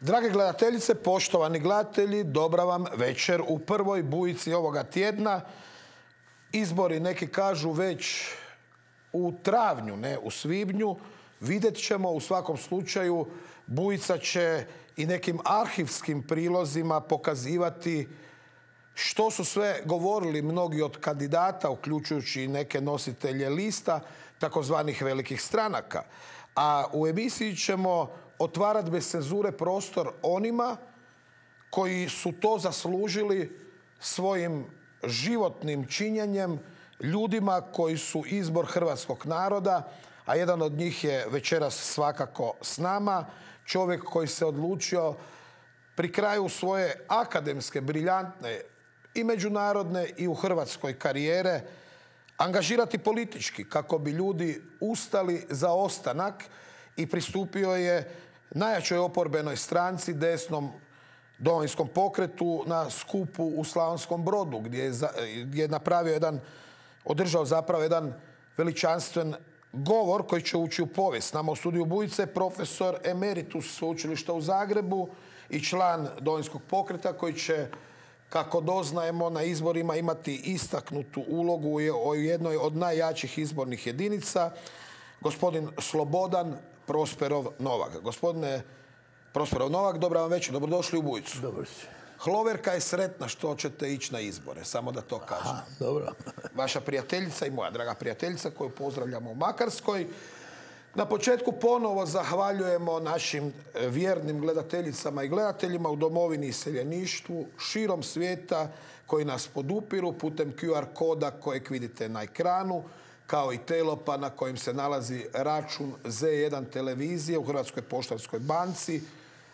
Drage gledateljice, poštovani gledatelji, dobra vam večer u prvoj bujici ovoga tjedna. Izbori, neki kažu, već u travnju, ne u svibnju. Vidjet ćemo, u svakom slučaju, bujica će i nekim arhivskim prilozima pokazivati što su sve govorili mnogi od kandidata, uključujući i neke nositelje lista, takozvanih velikih stranaka. A u emisiji ćemo otvarati bez cenzure prostor onima koji su to zaslužili svojim životnim činjenjem, ljudima koji su izbor hrvatskog naroda, a jedan od njih je večeras svakako s nama, čovjek koji se odlučio pri kraju svoje akademske, briljantne i međunarodne i u Hrvatskoj karijere angažirati politički kako bi ljudi ustali za ostanak i pristupio je najjačoj oporbenoj stranci, desnom Domovinskom pokretu, na skupu u Slavonskom Brodu, gdje je održao zapravo jedan veličanstven govor koji će ući u povijest. Nama u studiju Bujice profesor emeritus Sveučilišta u Zagrebu i član Domovinskog pokreta koji će, kako doznajemo, na izborima imati istaknutu ulogu u jednoj od najjačih izbornih jedinica, gospodin Slobodan Prosperov Novak. Gospodine Prosperov Novak, dobra vam večer, dobrodošli u Bujicu. Dobro si. Hloverka je sretna što ćete ići na izbore, samo da to kažem. Aha, dobro. Vaša prijateljica i moja draga prijateljica koju pozdravljamo u Makarskoj. Na početku ponovo zahvaljujemo našim vjernim gledateljicama i gledateljima u domovini i iseljeništvu širom svijeta koji nas podupiru putem QR koda kojeg vidite na ekranu, kao i Telopa na kojem se nalazi račun Z1 televizije u Hrvatskoj poštanskoj banci.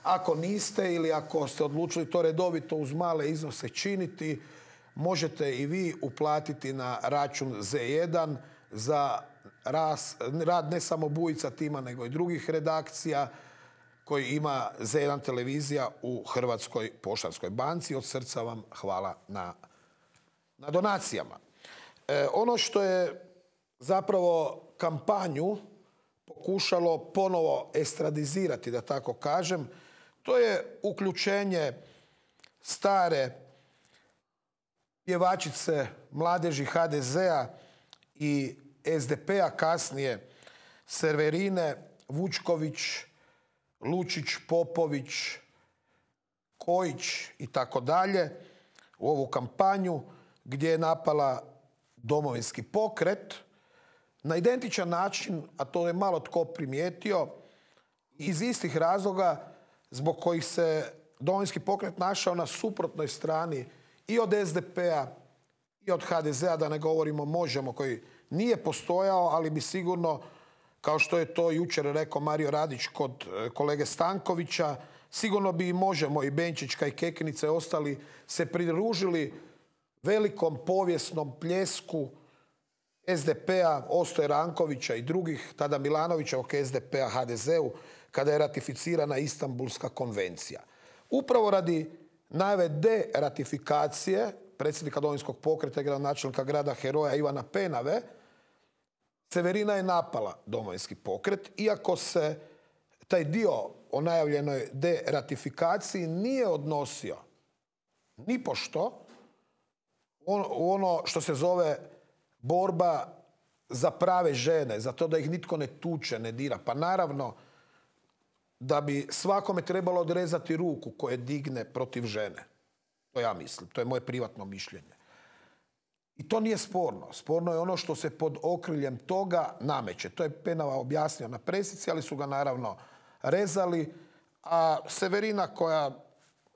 Ako niste ili ako ste odlučili to redovito uz male iznose činiti, možete i vi uplatiti na račun Z1 za rad ne samo Bujica tima, nego i drugih redakcija koji ima Z1 televizija u Hrvatskoj poštanskoj banci. Od srca vam hvala na donacijama. Ono što je zapravo kampanju pokušalo ponovo estradizirati, da tako kažem, to je uključenje stare pjevačice mladeži HDZ-a i SDP-a, kasnije Severine Vučković, Lučić, Popović, Kojić i tako dalje u ovu kampanju gdje je napala Domovinski pokret na identičan način, a to je malo tko primijetio, iz istih razloga zbog kojih se Domovinski pokret našao na suprotnoj strani i od SDP-a i od HDZ-a, da ne govorimo Možemo, koji nije postojao, ali bi sigurno, kao što je to jučer rekao Mario Radić kod kolege Stankovića, sigurno bi i Možemo, i Benčićka i Kekinica i ostali se pridružili velikom povijesnom pljesku SDP-a, Ostoje Rankovića i drugih, tada Milanovićevog SDP-a HDZ-u, kada je ratificirana Istanbulska konvencija. Upravo radi najave deratifikacije predsjednika Domovinskog pokreta i gradonačelnika grada heroja Ivana Penave, Severina je napala Domovinski pokret, iako se taj dio o najavljenoj deratifikaciji nije odnosio nipošto u ono što se zove borba za prave žene, za to da ih nitko ne tuče, ne dira. Pa naravno da bi svakome trebalo odrezati ruku koje digne protiv žene. To ja mislim, to je moje privatno mišljenje. I to nije sporno. Sporno je ono što se pod okriljem toga nameće. To je Penava objasnio na presici, ali su ga naravno rezali. A Severina, koja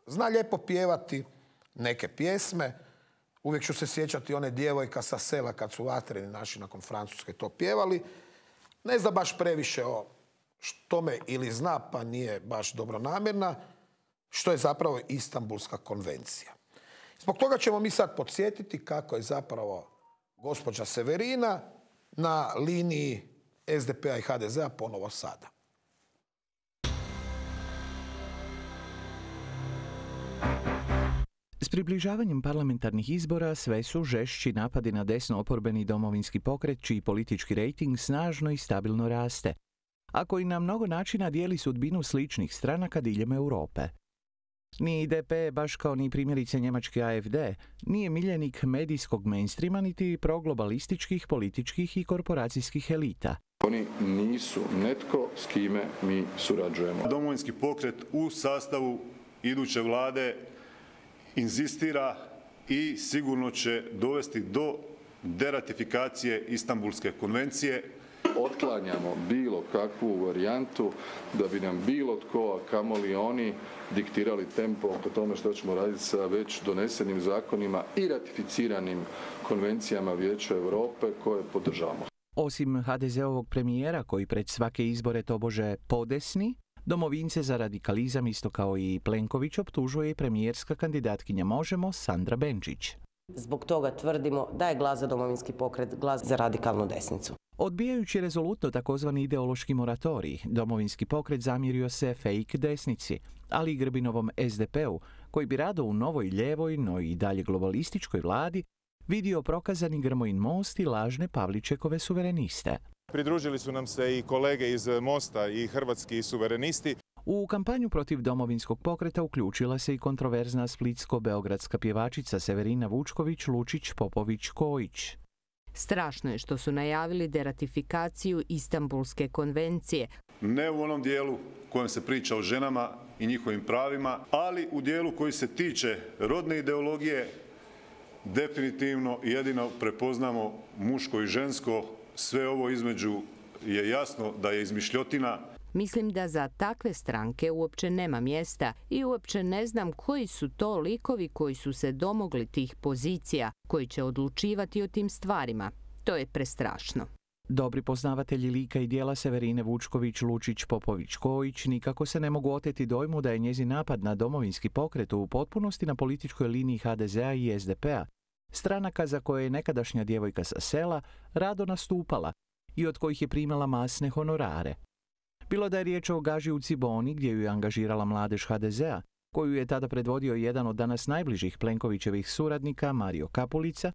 zna lijepo pjevati neke pjesme, uvijek ću se sjećati one Djevojka sa sela kad su vatreni naši nakon Francuske to pjevali, ne zna baš previše o tome ili zna, pa nije baš dobronamjerna, što je zapravo Istanbulska konvencija. Zbog toga ćemo mi sad podsjetiti kako je zapravo gospođa Severina na liniji SDP-a i HDZ-a ponovo sada. S približavanjem parlamentarnih izbora sve su žešći napadi na desno oporbeni Domovinski pokret, čiji politički rejting snažno i stabilno raste. a koji na mnogo načina dijeli sudbinu sličnih stranaka diljem Europe. Ni DP, baš kao ni primjerice njemački AfD, nije miljenik medijskog mainstreama niti proglobalističkih, političkih i korporacijskih elita. Oni nisu netko s kime mi surađujemo. Domovinski pokret u sastavu iduće vlade inzistira i sigurno će dovesti do deratifikacije Istanbulske konvencije. Otklanjamo bilo kakvu varijantu da bi nam bilo tko, a kamoli oni, diktirali tempo oko tome što ćemo raditi sa već donesenim zakonima i ratificiranim konvencijama Vijeća Europe koje podržavamo. Osim HDZ-ovog premijera koji pred svake izbore tobože podesni, domovince za radikalizam isto kao i Plenković optužuje i premijerska kandidatkinja Možemo Sandra Benčić. Zbog toga tvrdimo da je glas za Domovinski pokret glas za radikalnu desnicu. Odbijajući rezolutno takozvani ideološki moratorij, Domovinski pokret zamjerio se fake desnici, ali i Grbinovom SDP-u, koji bi rado u novoj ljevoj, no i dalje globalističkoj vladi vidio prokazani Grmojin most i lažne Pavličekove suvereniste. Pridružili su nam se i kolege iz Mosta i hrvatski suverenisti. U kampanju protiv Domovinskog pokreta uključila se i kontroverzna splitsko-beogradska pjevačica Severina Vučković, Lučić, Popović, Kojić. Strašno je što su najavili deratifikaciju Istanbulske konvencije. Ne u onom dijelu kojem se priča o ženama i njihovim pravima, ali u dijelu koji se tiče rodne ideologije, definitivno jedino prepoznamo muško i žensko. Sve ovo između je jasno da je izmišljotina. Mislim da za takve stranke uopće nema mjesta i uopće ne znam koji su to likovi koji su se domogli tih pozicija, koji će odlučivati o tim stvarima. To je prestrašno. Dobri poznavatelji lika i dijela Severine Vučković, Lučić, Popović, Kojić nikako se ne mogu oteti dojmu da je njezin napad na Domovinski pokret u potpunosti na političkoj liniji HDZ-a i SDP-a, stranaka za koje je nekadašnja djevojka sa sela rado nastupala i od kojih je primala masne honorare. Bilo da je riječ o Gaži u Ciboni, gdje ju je angažirala mladež HDZ-a, koju je tada predvodio jedan od danas najbližih Plenkovićevih suradnika, Mario Kapulica,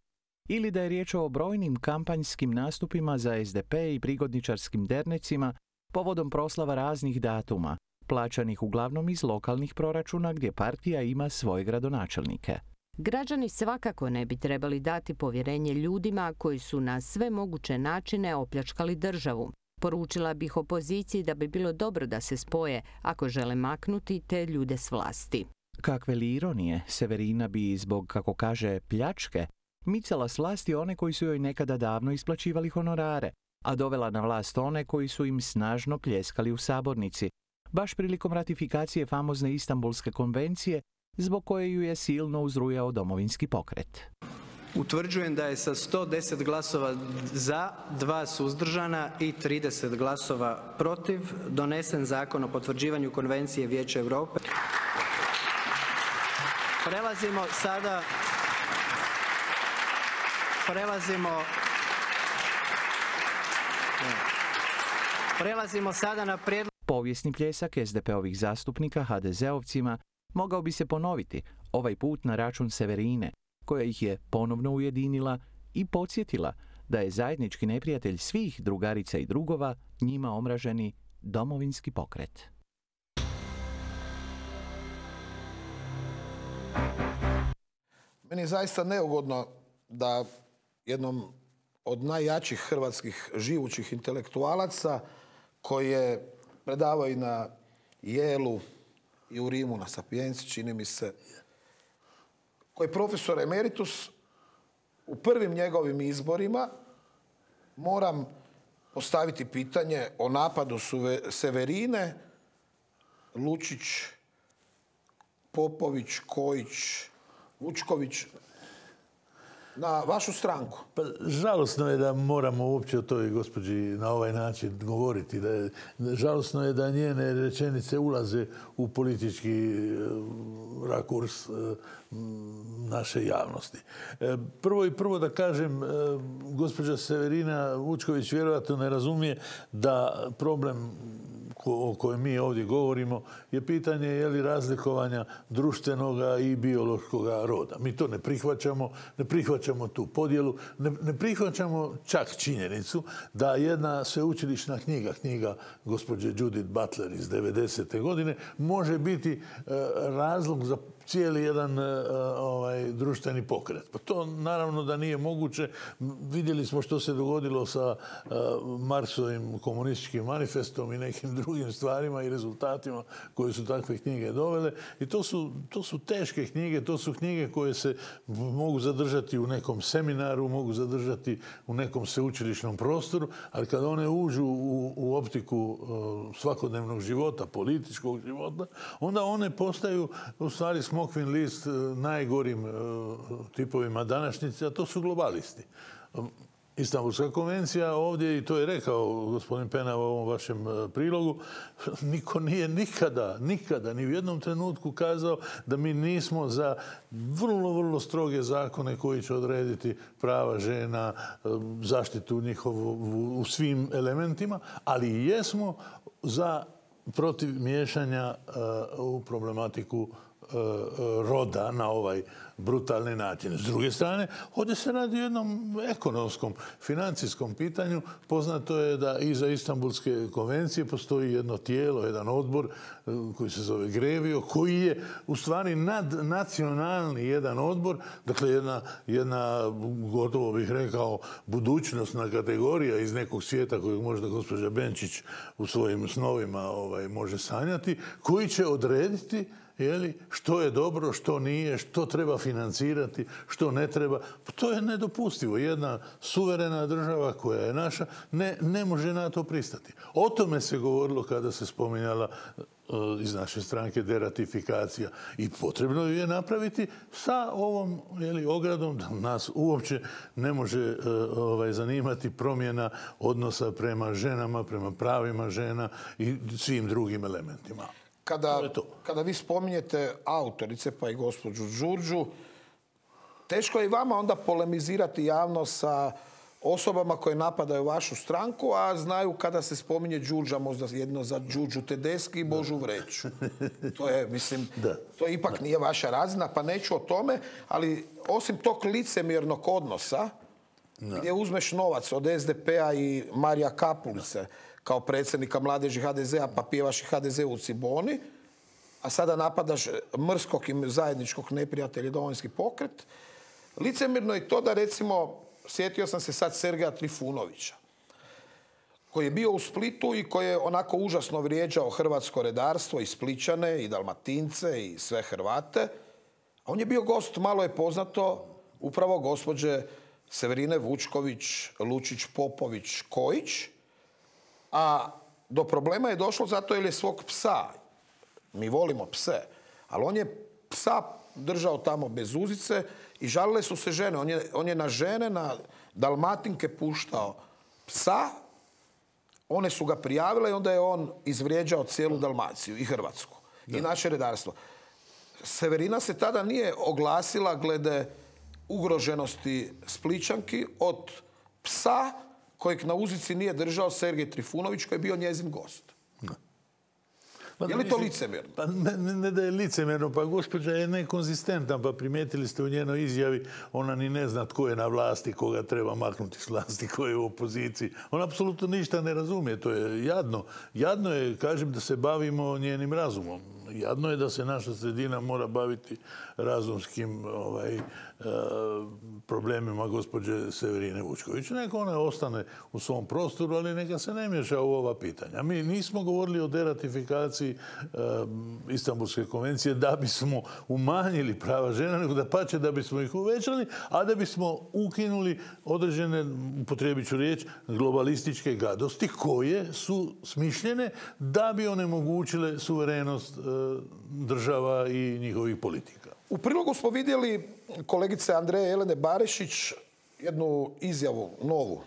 ili da je riječ o brojnim kampanjskim nastupima za SDP i prigodničarskim dernecima povodom proslava raznih datuma, plaćanih uglavnom iz lokalnih proračuna gdje partija ima svoje gradonačelnike. Građani svakako ne bi trebali dati povjerenje ljudima koji su na sve moguće načine opljačkali državu. Poručila bih opoziciji da bi bilo dobro da se spoje ako žele maknuti te ljude s vlasti. Kakve li ironije, Severina bi zbog, kako kaže, pljačke, micala s vlasti one koji su joj nekada davno isplaćivali honorare, a dovela na vlast one koji su im snažno pljeskali u sabornici, baš prilikom ratifikacije famozne Istanbulske konvencije, zbog koje ju je silno uzrujao Domovinski pokret. Utvrđujem da je sa 110 glasova za, 2 suzdržana i 30 glasova protiv donesen Zakon o potvrđivanju Konvencije Vijeća Europe. Prelazimo sada na prijedlog. Povijesni pljesak SDP-ovih zastupnika HDZ-ovcima mogao bi se ponoviti, ovaj put na račun Severine, koja ih je ponovno ujedinila i podsjetila da je zajednički neprijatelj svih drugarica i drugova njima omraženi Domovinski pokret. Meni je zaista neugodno da jednom od najjačih hrvatskih živućih intelektualaca koji je predavao i na Yale-u i u Rimu na Sapienci, čini mi se, koji je profesor emeritus, u prvim njegovim izborima moram postaviti pitanje o napadu Severine, Lučić, Popović, Kojić, Vučković na vašu stranku. Pa, žalosno je da moramo uopće o toj gospođi na ovaj način govoriti. Žalosno je da njene rečenice ulaze u politički rakurs naše javnosti. Prvo da kažem, gospođa Severina Vučković vjerojatno ne razumije da problem o kojem mi ovdje govorimo je pitanje je li razlikovanja društvenoga i biološkoga roda. Mi to ne prihvaćamo tu podjelu, ne prihvaćamo čak činjenicu da jedna sveučilišna knjiga gospođe Judith Butler iz 90. godine može biti razlog za cijeli jedan društveni pokret. Pa to naravno da nije moguće. Vidjeli smo što se dogodilo sa Marksovim komunističkim manifestom i nekim drugim stvarima i rezultatima koje su takve knjige dovele. I to su teške knjige, to su knjige koje se mogu zadržati u nekom seminaru, mogu zadržati u nekom sveučilišnom prostoru, ali kada one uđu u optiku svakodnevnog života, političkog života, onda one postaju u stvari smokvin list najgorim tipovima današnjice, a to su globalisti. Istanbulska konvencija ovdje, i to je rekao gospodin Penava u ovom vašem prilogu, niko nije nikada, ni u jednom trenutku kazao da mi nismo za vrlo, vrlo stroge zakone koji će odrediti prava žena, zaštitu njihovu u svim elementima, ali jesmo protiv miješanja u problematiku roda na ovaj brutalni način. S druge strane, ovdje se radi o jednom ekonomskom, financijskom pitanju. Poznato je da iza Istanbulske konvencije postoji jedno tijelo, jedan odbor koji se zove Grevio, koji je u stvari nadnacionalni jedan odbor, dakle jedna gotovo bih rekao budućnosna kategorija iz nekog svijeta kojeg možda gospođa Benčić u svojim snovima može sanjati, koji će odrediti što je dobro, što nije, što treba financirati, što ne treba. To je nedopustivo. Jedna suverena država koja je naša ne može na to pristati. O tome se govorilo kada se spominjala iz naše stranke deratifikacija. I potrebno je napraviti sa ovom ogradom da nas uopće ne može zanimati promjena odnosa prema ženama, prema pravima žena i svim drugim elementima. Kada vi spominjete autorice, pa i gospođu Đurđu, teško je i vama onda polemizirati javno sa osobama koje napadaju vašu stranku, a znaju kada se spominje Đurđa, možda jedno za Đurđu Tedeschi i Božu Vreću. To je, mislim, to ipak nije vaša razina, pa neću o tome, ali osim tog licemjernog odnosa, gdje uzmeš novac od SDP-a i Marija Kapulice, kao predsjednika mladeži HDZ-a, pa pjevaš i HDZ u Ciboni, a sada napadaš mrskog i zajedničkog neprijatelja Domovinski pokret. Licemjerno je to da, recimo, sjetio sam se sad Sergeja Trifunovića, koji je bio u Splitu i koji je onako užasno vrijeđao hrvatsko redarstvo i Splićane i Dalmatince i sve Hrvate. A on je bio gost, malo je poznato, upravo gospođe Severine Vučković, Lučić, Popović, Kojić. A do problema je došlo zato jer je svog psa, mi volimo pse, ali on je psa držao tamo bez uzice i žalile su se žene. On je na žene, na Dalmatinke puštao psa, one su ga prijavile i onda je on izvrijeđao cijelu Dalmaciju i Hrvatsku i naše redarstvo. Severina se tada nije oglasila glede ugroženosti Splićanki od psa kojeg na uzici nije držao Sergej Trifunović, koji je bio njezin gost. Je li to licemjerno? Pa ne da je licemjerno, pa gospođa je nekonzistentna, pa primijetili ste u njenoj izjavi, ona ni ne zna tko je na vlasti, koga treba maknuti s vlasti, ko je u opoziciji. Ona apsolutno ništa ne razumije, to je jadno. Jadno je, kažem, da se bavimo njenim razumom. Jadno je da se naša sredina mora baviti razumskim problemima gospođe Severine Vučković. Neka ona ostane u svom prostoru, ali neka se ne miješa u ova pitanja. Mi nismo govorili o deratifikaciji Istanbulske konvencije da bismo umanjili prava žena, nego dapače da bismo ih uvećali, a da bismo ukinuli određene, upotrijebit ću riječ, globalističke gadosti koje su smišljene da bi onemogućile suverenost država i njihovih politika. U prilogu smo vidjeli kolegice Andreje Jelene Barišić jednu izjavu novu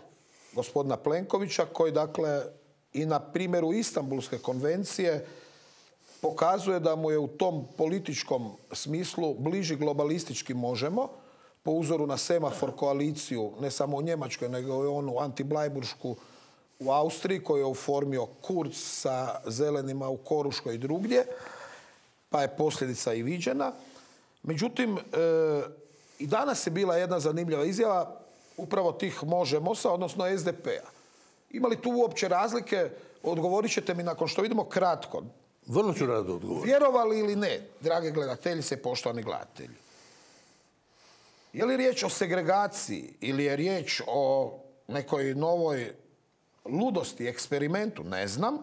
gospodina Plenkovića koji, dakle, i na primjeru Istanbulske konvencije pokazuje da mu je u tom političkom smislu bliži globalistički Možemo, po uzoru na semafor koaliciju, ne samo u Njemačkoj, nego i onu antiblajburšku u Austriji koju je oformio Kurz sa zelenima u Koruškoj i drugdje, pa je posljedica i viđena. Međutim, i danas je bila jedna zanimljiva izjava upravo tih Možemosa, odnosno SDP-a. Ima li tu uopće razlike? Odgovorit ćete mi nakon što vidimo kratko. Vrlo ću rado odgovoriti. Vjerovali ili ne, drage gledateljice i poštovani gledatelji? Je li riječ o segregaciji ili je riječ o nekoj novoj ludosti, eksperimentu? Ne znam,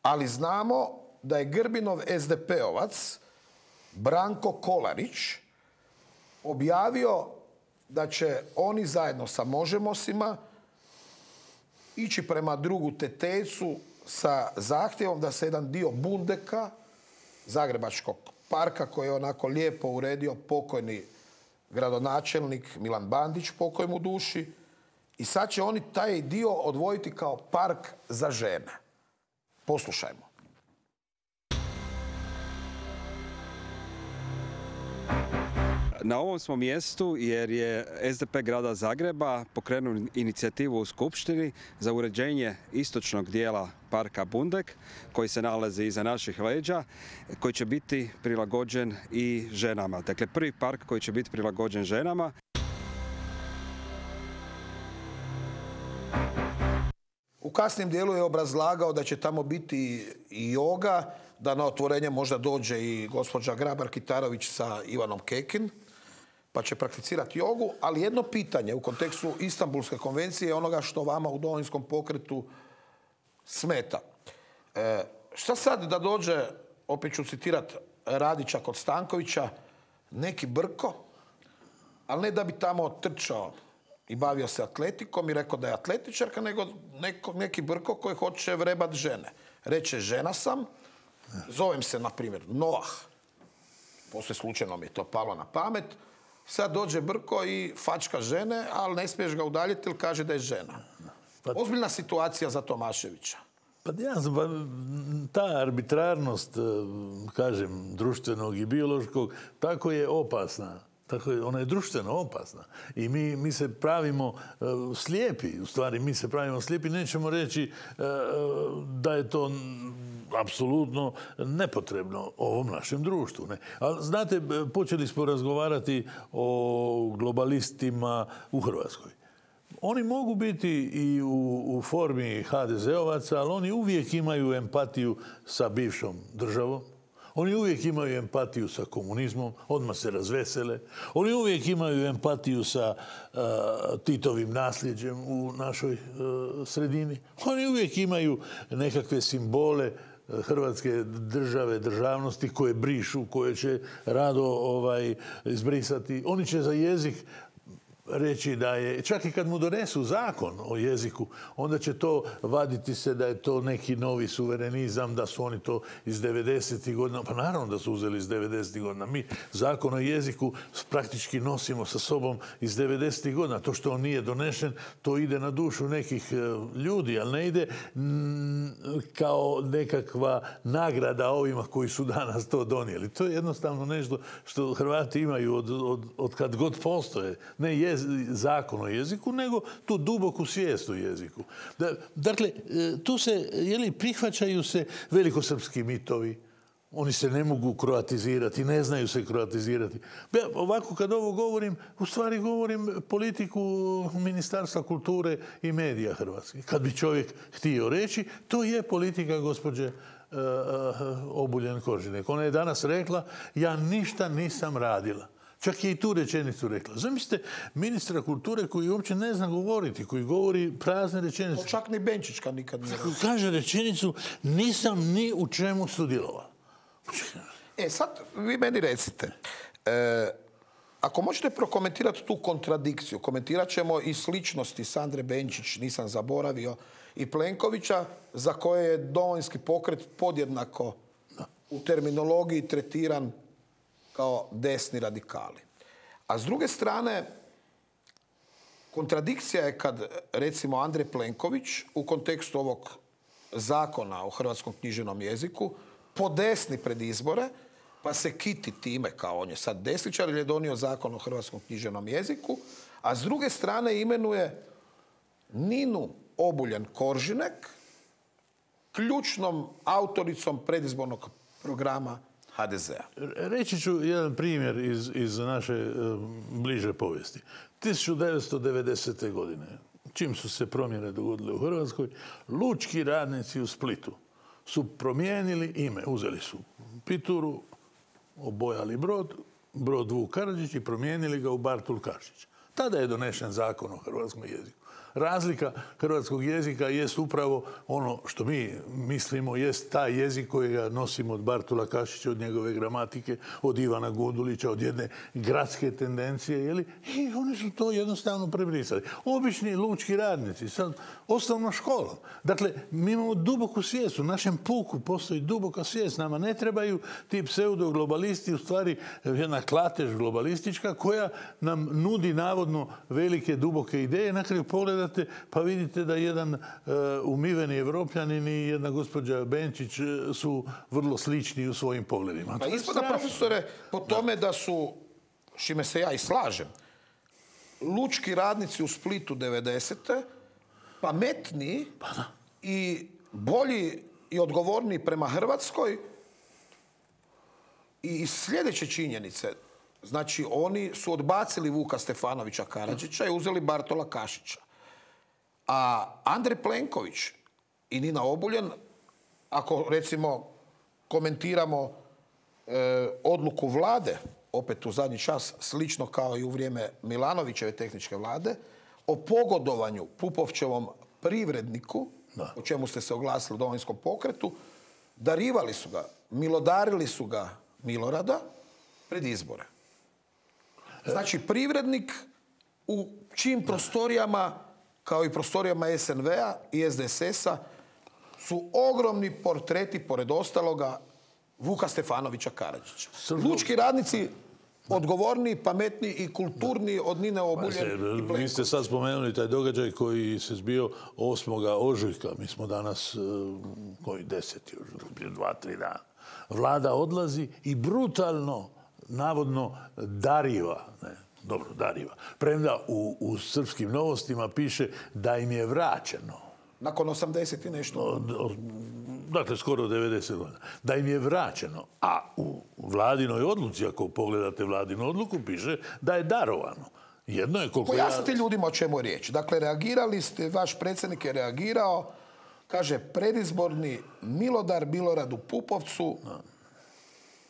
ali znamo da je Grbinov SDP-ovac Branko Kolarić objavio da će oni zajedno sa Možemosima ići prema drugu Tetecu sa zahtjevom da se jedan dio Bundeka, Zagrebačkog parka, koji je onako lijepo uredio pokojni gradonačelnik Milan Bandić, pokoj mu duši, i sad će oni taj dio odvojiti kao park za žene. Poslušajmo. Na ovom smo mjestu jer je SDP grada Zagreba pokrenuo inicijativu u Skupštini za uređenje istočnog dijela parka Bundek, koji se nalazi iza naših leđa, koji će biti prilagođen i ženama. Dakle, prvi park koji će biti prilagođen ženama. U kasnim dijelu je obrazlagao da će tamo biti i joga, da na otvorenje možda dođe i gospođa Grabar-Kitarović sa Ivanom Kekin, pa će prakticirati jogu, ali jedno pitanje u kontekstu Istanbulske konvencije je onoga što vama u Domovinskom pokretu smeta. Šta sad da dođe, opet ću citirati Radića kod Stankovića, neki Brko, ali ne da bi tamo trčao i bavio se atletikom i rekao da je atletičarka, nego neki Brko koji hoće vrebat žene. Reče, žena sam, zovem se, na primjer, Noah. Poslije slučajno mi je to palo na pamet. Sad dođe Brko i fačka žene, ali ne smiješ ga udaljiti jer kaže da je žena. Ozbiljna situacija za Tomaševića. Pa ta arbitrarnost, kažem, društvenog i biološkog, tako je opasna. Ona je društveno opasna. I mi se pravimo slijepi. U stvari, mi se pravimo slijepi. Nećemo reći da je to apsolutno nepotrebno ovom našem društvu. Ne? Ali, znate, počeli smo razgovarati o globalistima u Hrvatskoj. Oni mogu biti i u formi HDZ-ovaca, ali oni uvijek imaju empatiju sa bivšom državom. Oni uvijek imaju empatiju sa komunizmom, odmah se razvesele. Oni uvijek imaju empatiju sa Titovim nasljeđem u našoj sredini. Oni uvijek imaju nekakve simbole Hrvatske države, državnosti koje brišu, koje će rado izbrisati. Oni će za jezik reći da je, čak i kad mu donesu zakon o jeziku, onda će to vaditi se da je to neki novi suverenizam, da su oni to iz 90. godina. Pa naravno da su uzeli iz 90. godina. Mi zakon o jeziku praktički nosimo sa sobom iz 90. godina. To što on nije donešen, to ide na dušu nekih ljudi, ali ne ide kao nekakva nagrada ovima koji su danas to donijeli. To je jednostavno nešto što Hrvati imaju od kad god postoje. Ne zakon o jeziku, nego tu duboku svijest o jeziku. Dakle, tu se, prihvaćaju se velikosrpski mitovi. Oni se ne mogu kroatizirati, ne znaju se kroatizirati. Ovako kad ovo govorim, u stvari govorim politiku Ministarstva kulture i medija Hrvatske. Kad bi čovjek htio reći, to je politika gospođe Obuljen-Koržinek. Ona je danas rekla, ja ništa nisam radila. Čak je i tu rečenicu rekla. Zamislite ministra kulture koji uopće ne zna govoriti, koji govori prazne rečenice. Čak ni Benčićka nikad nije rekla. Kaže rečenicu, nisam ni u čemu sudjelovao. Sad vi meni recite, ako možete prokomentirati tu kontradikciju, komentirat ćemo i sličnosti Sandre Benčić, nisam zaboravio, i Plenkovića, za koje je Domovinski pokret podjednako u terminologiji tretiran kao desni radikali. A s druge strane, kontradikcija je kad, recimo, Andrej Plenković u kontekstu ovog zakona o hrvatskom književnom jeziku podesni pred izbore, pa se kiti time kao on je sad desničar jer je donio zakon o hrvatskom književnom jeziku, a s druge strane imenuje Ninu Obuljen-Koržinek ključnom autoricom predizbornog programa HDZ-a. Reći ću jedan primjer iz naše bliže povijesti. 1990. godine, čim su se promjene dogodile u Hrvatskoj, lučki radnici u Splitu su promijenili ime. Uzeli su Pituru, obojali brod Vuk Karadžić i promijenili ga u Bartul Kašić. Tada je donesen zakon o hrvatskom jeziku. Razlika hrvatskog jezika jest upravo ono što mi mislimo, jest taj jezik kojega nosimo od Bartula Kašića, od njegove gramatike, od Ivana Gundulića, od jedne gradske tendencije, i oni su to jednostavno prebrisali. Obični lučki radnici, sad osnovnom školom. Dakle, mi imamo duboku svijest, u našem puku postoji duboka svijest, nama ne trebaju ti pseudoglobalisti, u stvari jedna klatež globalistička koja nam nudi navodno velike, duboke ideje. Na kraju pogledate pa vidite da jedan umiveni Evropljanin i jedna gospođa Benčić su vrlo slični u svojim pogledima. Pa ispada, profesore, po tome da su, s čime se ja i slažem, lučki radnici u Splitu 90. pametniji i bolji i odgovorniji prema Hrvatskoj i iz sljedeće činjenice. Znači, oni su odbacili Vuka Stefanovića Karadžića i uzeli Bartola Kašića. A Andrej Plenković i Nina Obuljen, ako recimo komentiramo odluku vlade, opet u zadnji čas, slično kao i u vrijeme Milanovićeve tehničke vlade, o pogodovanju Pupovčevom privredniku, o čemu ste se oglasili u Domovinskom pokretu, darivali su ga, milodarili su ga Milorada pred izbore. Znači, privrednik u čijim prostorijama, kao i prostorijama SNV-a i SDSS-a, su ogromni portreti, pored ostaloga, Vuka Stefanovića Karadžića. Lučki radnici odgovorniji, pametniji i kulturniji od Nine Obuljen i Plenković. Vi ste sad spomenuli taj događaj koji se zbio 8. ožujka. Mi smo danas, koji 10. prije 2-3 dana. Vlada odlazi i brutalno, navodno, dariva. Dariva. Premda u srpskim novostima piše da im je vraćeno. Nakon 80 i nešto. Dakle, skoro 90 godina. Da im je vraćeno. A u vladinoj odluci, ako pogledate vladinu odluku, piše da je darovano. Jedno je koliko... Pojasnite ljudima o čemu je riječ. Dakle, reagirali ste, vaš predsjednik je reagirao, kaže, predizborni milodar Miloradu Pupovcu,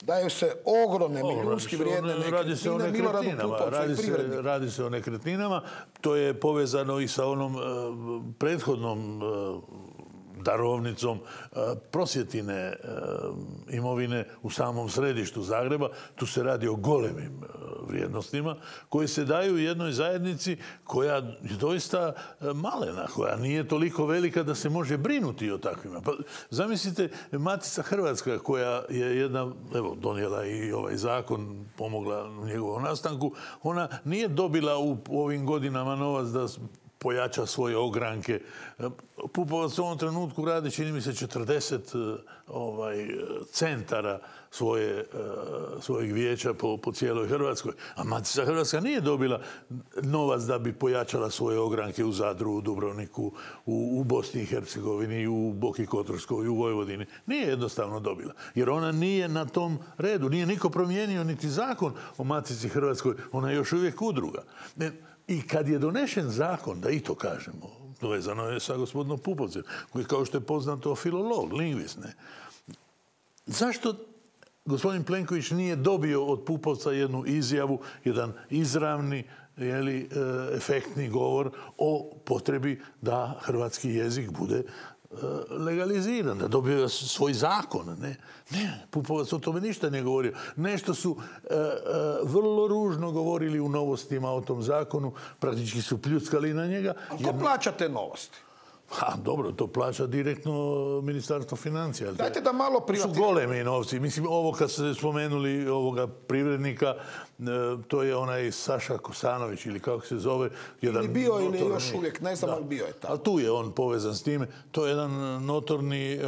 daju se ogromne milijunski vrijedne nekretnine Miloradu Pupovcu i privredniku. Radi se o nekretninama. To je povezano i sa onom prethodnom darovnicom prosvjetine imovine u samom središtu Zagreba. Tu se radi o golemim vrijednostima koje se daju jednoj zajednici koja je doista malena, koja nije toliko velika da se može brinuti o takvima. Pa, zamislite, Matica Hrvatska koja je jedna, evo, donijela i ovaj zakon, pomogla u njegovom nastanku, ona nije dobila u ovim godinama novac da pojača svoje ogranke. Pupovac u ovom trenutku radi, čini mi se, 40 centara svojeg vijeća po cijeloj Hrvatskoj. A Matica Hrvatska nije dobila novac da bi pojačala svoje ogranke u Zadru, u Dubrovniku, u Bosni i Hercegovini, u Boki Kotorskoj, u Vojvodini. Nije jednostavno dobila. Jer ona nije na tom redu. Nije niko promijenio niti zakon o Matici Hrvatskoj. Ona je još uvijek udruga. I kad je donešen zakon, da i to kažemo, vezano je sa gospodinom Pupovcem, koji, kao što je poznato, filolog, lingvist, zašto gospodin Plenković nije dobio od Pupovca jednu izjavu, jedan izravni, efektni govor o potrebi da hrvatski jezik bude legaliziran, da dobio svoj zakon. Ne, Pupovac o tome ništa ne govorio. Nešto su vrlo ružno govorili u novostima o tom zakonu, praktički su pljuckali na njega. A ko plaća te novosti? Dobro, to plaća direktno Ministarstvo financija. Dajte da malo privatiziramo. Su golemi novci. Mislim, ovo kad ste spomenuli ovoga privrednika, to je onaj Saša Kosanović ili kako se zove. Ili bio ili još uvijek, ne znam, ali bio je tamo. Ali tu je on povezan s time. To je jedan notorni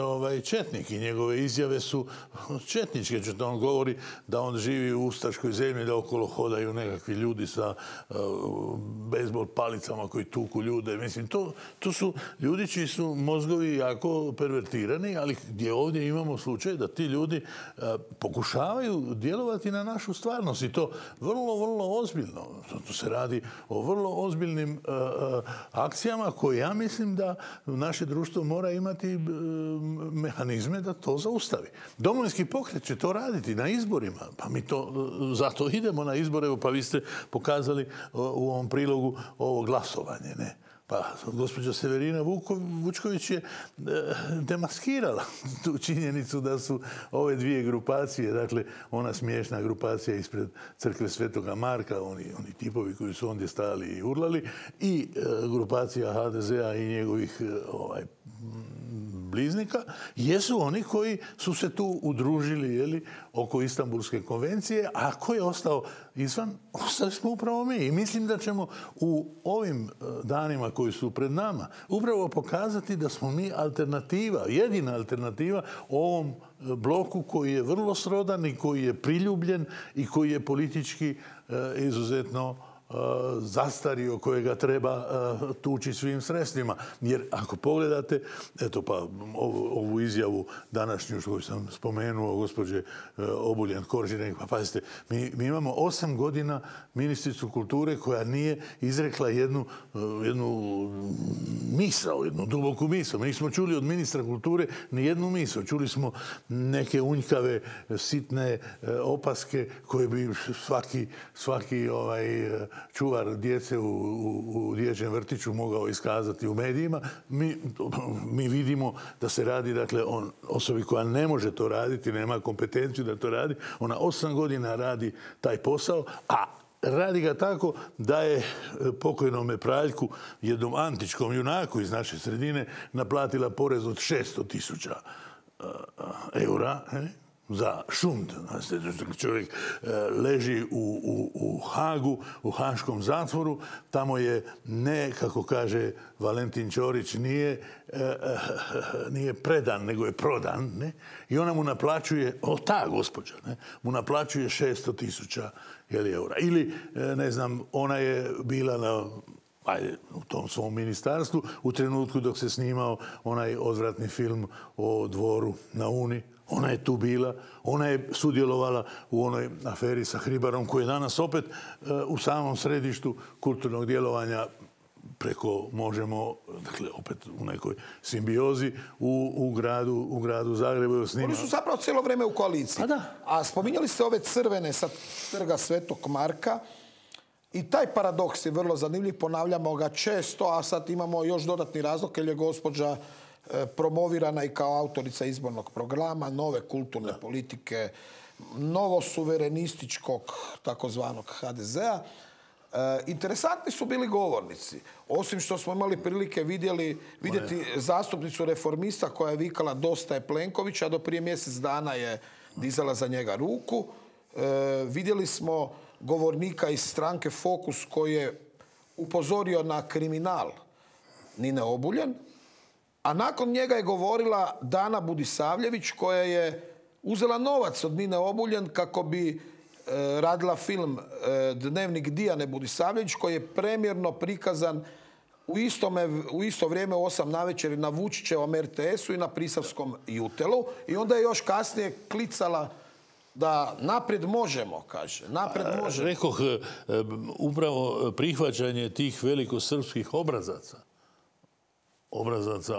četnik i njegove izjave su četničke. On govori da on živi u ustaškoj zemlji, da okolo hodaju nekakvi ljudi sa bejsbol palicama koji tuku ljude. Mislim, to su ljudi ljudi čiji su mozgovi jako pervertirani, ali gdje ovdje imamo slučaj da ti ljudi pokušavaju djelovati na našu stvarnost i to vrlo, vrlo ozbiljno. To se radi o vrlo ozbiljnim akcijama koje ja mislim da naše društvo mora imati mehanizme da to zaustavi. Domovinski pokret će to raditi na izborima, pa mi to zato idemo na izbore, pa vi ste pokazali u ovom prilogu ovo glasovanje, ne? Pa gospođa Severina Vučković je demaskirala tu činjenicu da su ove dvije grupacije, dakle ona smiješna grupacija ispred crkve Svetoga Marka, oni tipovi koji su ondje stajali i urlali, i grupacija HDZ-a i njegovih bliznika, jesu oni koji su se tu udružili oko Istanbulske konvencije, a ko je ostao izvan, ostali smo upravo mi. I mislim da ćemo u ovim danima koji su pred nama upravo pokazati da smo mi alternativa, jedina alternativa ovom bloku koji je vrlo srodan i koji je priljubljen i koji je politički izuzetno zastario, kojega treba tući svim sredstvima. Jer ako pogledate, eto pa ovu izjavu današnju koju sam spomenuo, gospođe Obuljen Koržinek, pa pazite, mi imamo 8 godina ministricu kulture koja nije izrekla jednu misao, jednu duboku misao. Mi nismo čuli od ministra kulture ni jednu misao. Čuli smo neke unjkave, sitne opaske koje bi svaki čuvar djece u dječjem vrtiću mogao iskazati u medijima. Mi vidimo da se radi, dakle, o osobi koja ne može to raditi, nema kompetenciju da to radi. Ona 8 godina radi taj posao, a radi ga tako da je pokojnome Praljku, jednom antičkom junaku iz naše sredine, naplatila porez od 600.000 eura, za šund. Čovjek leži u Hagu, u haškom zatvoru. Tamo je, ne, kako kaže Valentin Ćorić, nije predan, nego je prodan. Ne? I ona mu naplaćuje, ta gospođa, mu naplaćuje 600.000 eura. Ili, ne znam, ona je bila u tom svom ministarstvu u trenutku dok se snimao onaj odvratni film o Dvoru na Uni. Ona je tu bila, ona je sudjelovala u onoj aferi sa Hribarom koji je danas opet u samom središtu kulturnog djelovanja preko Možemo, dakle opet u nekoj simbiozi u gradu Zagrebu. Oni su zapravo cijelo vrijeme u koaliciji. A spominjali ste ove crvene sa trga Svetog Marka i taj paradoks je vrlo zanimljiv, ponavljamo ga često, a sad imamo još dodatni razlog jer je gospođa promovirana i kao autorica izbornog programa, nove kulturne politike, novosuverenističkog takozvanog HDZ-a. Interesantni su bili govornici. Osim što smo imali prilike vidjeti zastupnicu Reformista koja je vikala dosta je Plenkovića, a do prije mjesec dana je dizala za njega ruku. Vidjeli smo govornika iz stranke Fokus koji je upozorio na kriminal Nine Obuljen, a nakon njega je govorila Dana Budisavljević koja je uzela novac od Nine Obuljen kako bi radila film Dnevnik Dijane Budisavljević koji je premjerno prikazan u isto vrijeme u 8 navečer na Vučićevom RTS-u i na Prisavskom Jutelu. I onda je još kasnije klicala da naprijed možemo, kaže. Naprijed možemo. Rekoh, upravo prihvaćanje tih velikosrpskih obrazaca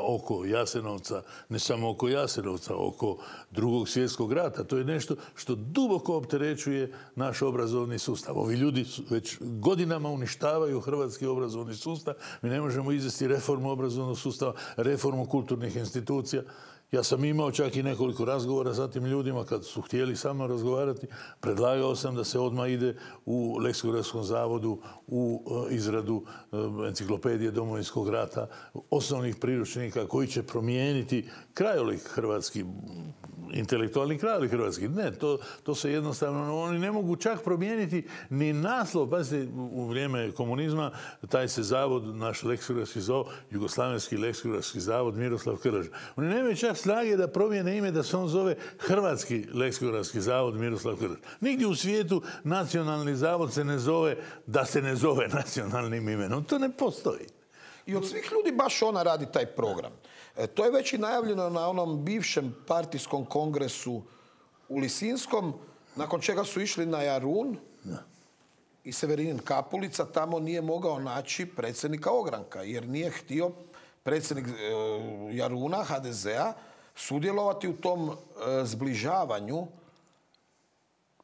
oko Jasenovca, ne samo oko Jasenovca, oko Drugog svjetskog rata. To je nešto što duboko opterećuje naš obrazovni sustav. Ovi ljudi već godinama uništavaju hrvatski obrazovni sustav. Mi ne možemo izvesti reformu obrazovnog sustava, reformu kulturnih institucija. Ja sam imao čak i nekoliko razgovora sa tim ljudima kad su htjeli sa mnom razgovarati. Predlagao sam da se odmah ide u Leksikografskom zavodu u izradu enciklopedije Domovinskog rata, osnovnih priručnika koji će promijeniti krajolik hrvatski, intelektualni krajolik hrvatski. Ne, to se jednostavno, oni ne mogu čak promijeniti ni naslov. Pazite, u vrijeme komunizma taj se zavod, naš leksikografski zavod, Jugoslavenski leksikografski zavod Miroslav Krleža. Oni nemaju čak snage da promijene ime, da se on zove Hrvatski leksikografski zavod Miroslav Krleža. Nigdje u svijetu nacionalni zavod se ne zove da se ne zove nacionalnim imenom. To ne postoji. I od svih ljudi baš ona radi taj program. To je već i najavljeno na onom bivšem partijskom kongresu u Lisinskom, nakon čega su išli na Jarun i Severinin Kapulica tamo nije mogao naći predsjednika ogranka, jer nije htio predsjednik Jaruna, HDZ-a, sudjelovati u tom zbližavanju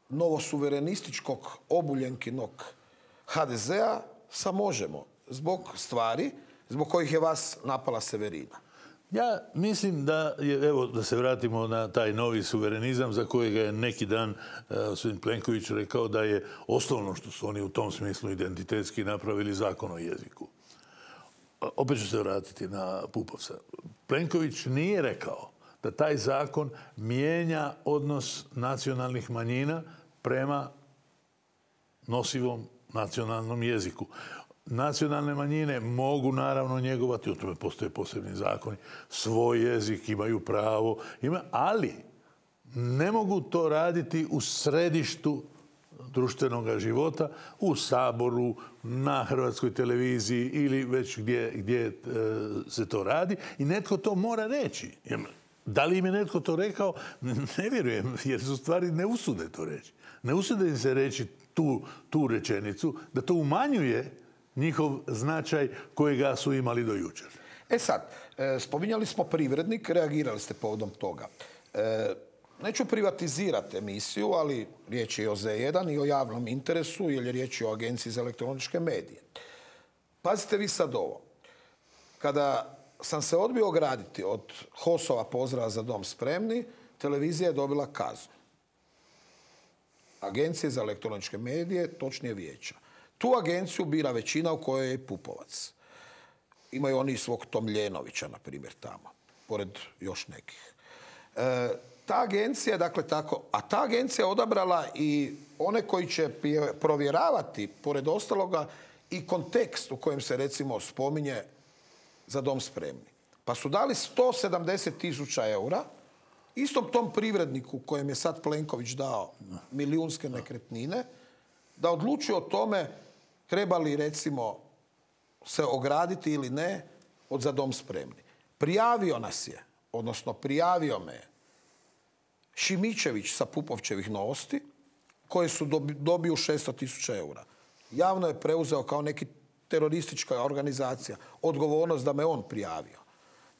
novosuverenističkog obuljenkinog HDZ-a sa Možemo, zbog stvari zbog kojih je vas napala Severina. Ja mislim da je, evo da se vratimo na taj novi suverenizam za kojega je neki dan gospodin Plenković rekao da je osnovno što su oni u tom smislu identitetski napravili zakon o jeziku. Opet ću se vratiti na Pupovca. Plenković nije rekao da taj zakon mijenja odnos nacionalnih manjina prema nosivom nacionalnom jeziku. Nacionalne manjine mogu naravno njegovati, o tome postoje posebni zakoni, svoj jezik, imaju pravo, ali ne mogu to raditi u središtu društvenog života, u Saboru, na Hrvatskoj televiziji ili već gdje se to radi i netko to mora reći. Da li im je netko to rekao? Ne vjerujem, jer su stvari ne usude to reći. Ne usude im se reći tu rečenicu, da to umanjuje njihov značaj kojega su imali do jučer. Sad, spominjali smo Privrednik, reagirali ste povodom toga. Neću privatizirati emisiju, ali riječ je o Z1 i o javnom interesu, jer je riječ o Agenciji za elektroničke medije. Pazite vi sad ovo. Kada sam se odbio ograditi od HOS-ova pozdrava za dom spremni, televizija je dobila kaznu. Agencije za elektroničke medije, točnije vijeća. Tu agenciju bira većina u kojoj je Pupovac. Imaju oni svog Tomljenovića, na primjer, tamo, pored još nekih. Ta agencija, dakle tako, a ta agencija je odabrala i one koji će provjeravati, pored ostaloga, i kontekst u kojem se, recimo, spominje za dom spremni. Pa su dali 170.000 eura istom tom Privredniku kojem je sad Plenković dao milijunske nekretnine, da odlučuje o tome treba li, recimo, se ograditi ili ne od za dom spremni. Prijavio nas je, odnosno prijavio me je Šimičević sa Pupovčevih Novosti, koje su dobiju 600.000 eura. Javno je preuzeo kao neki teroristička organizacija odgovornost da me on prijavio.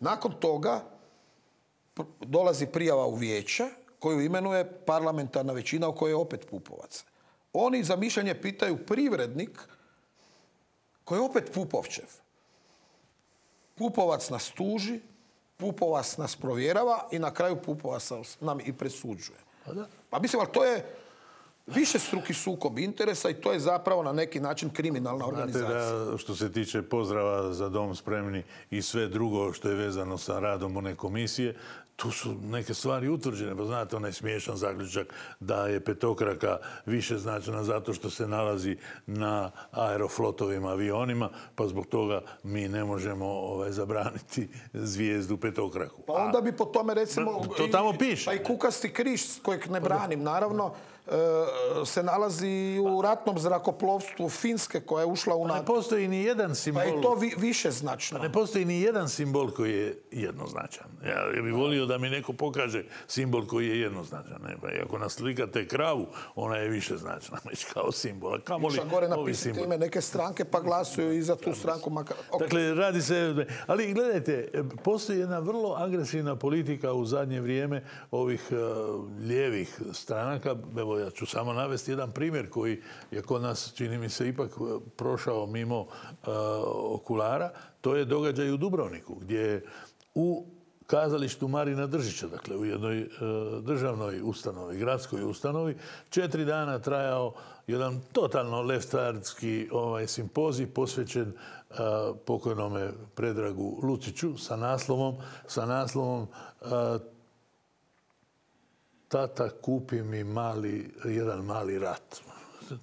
Nakon toga dolazi prijava u vijeće koju imenuje parlamentarna većina u kojoj je opet Pupovac. Oni za mišljenje pitaju Privrednik koji je opet Pupovčev. Pupovac nas tuži, Pupovac nas provjerava i na kraju Pupovac nam i presuđuje. Pa mislim, ali to je višestruki sukob interesa i to je zapravo na neki način kriminalna organizacija. Znate da što se tiče pozdrava za dom spremni i sve drugo što je vezano sa radom one komisije, tu su neke stvari utvrđene. Pa znate, onaj smiješan zaključak da je petokraka više značajna zato što se nalazi na Aeroflotovim avionima, pa zbog toga mi ne možemo zabraniti zvijezdu petokraku. Pa onda bi po tome, recimo, to tamo piše. Pa i kukasti križ, kojeg ne branim, naravno, se nalazi u ratnom zrakoplovstvu Finske koja je ušla u NATO. Ne postoji ni jedan simbol. Pa je to više značno. Ne postoji ni jedan simbol koji je jednoznačan. Ja bih volio da mi neko pokaže simbol koji je jednoznačan. Ako naslikate kravu, ona je više značna, već kao simbol. Iša gore napisati ime neke stranke pa glasuju i za tu stranku. Dakle, radi se... Ali gledajte, postoji jedna vrlo agresivna politika u zadnje vrijeme ovih lijevih stranaka. Evo, ja ću samo navesti jedan primjer koji je kod nas, čini mi se, ipak prošao mimo okulara. To je događaj u Dubrovniku, gdje u kazalištu Marina Držića, dakle u jednoj državnoj ustanovi, gradskoj ustanovi, 4 dana trajao jedan totalno leftarski simpozij posvećen pokojnome Predragu Luciću sa naslovom Tata, kupi mi jedan mali rat.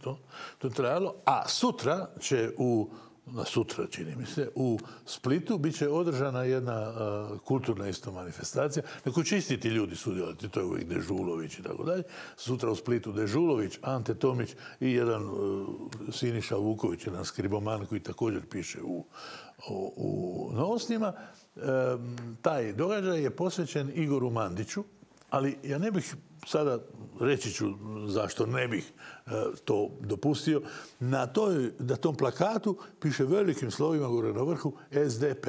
To je trajalo. A sutra će u na sutra, čini mi se, u Splitu bit će održana jedna kulturna isto manifestacija na kojoj će isti ti ljudi sudjelovati. To je uvijek Dežulović i tako dalje. Sutra u Splitu Dežulović, Ante Tomić i jedan Siniša Vuković, jedan skriboman koji također piše u Novostima. Taj događaj je posvećen Igoru Mandiću, ali ja ne bih sada, reći ću zašto ne bih to dopustio, na tom plakatu piše velikim slovima gore na vrhu SDP.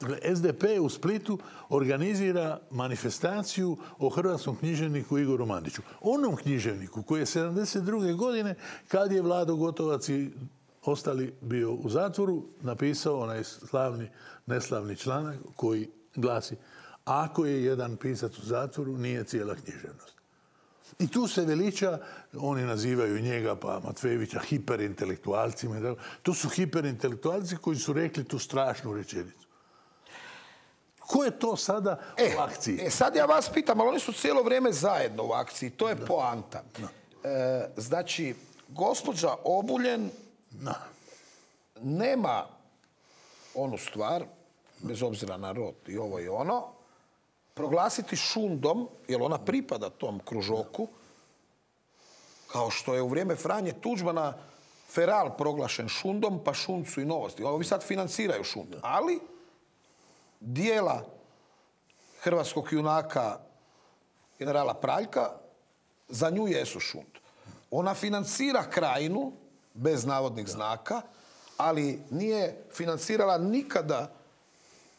Dakle, SDP u Splitu organizira manifestaciju o hrvatskom književniku Igoru Mandiću. Onom književniku koji je 72. godine, kad je Vlado Gotovac i ostali bio u zatvoru, napisao onaj neslavni članak koji glasi: ako je jedan pisac u zatvoru, nije cijela književnost. I tu se veliča, oni nazivaju njega pa Matvejevića hiperintelektualcima. To su hiperintelektualci koji su rekli tu strašnu rečenicu. Ko je to sada u akciji? Sad ja vas pitam, ali oni su cijelo vrijeme zajedno u akciji. To je poanta. Znači, gospođa Obuljen nema onu stvar, bez obzira na rod i ovo i ono, proglasiti šundom, jer ona pripada tom kružoku, kao što je u vrijeme Franje Tuđmana Feral proglašen šundom, pa šund su i Novosti. Ovi sad financiraju šund. Ali dijela hrvatskog junaka generala Praljka za nju jesu šund. Ona financira Krajinu, bez navodnih znaka, ali nije financirala nikada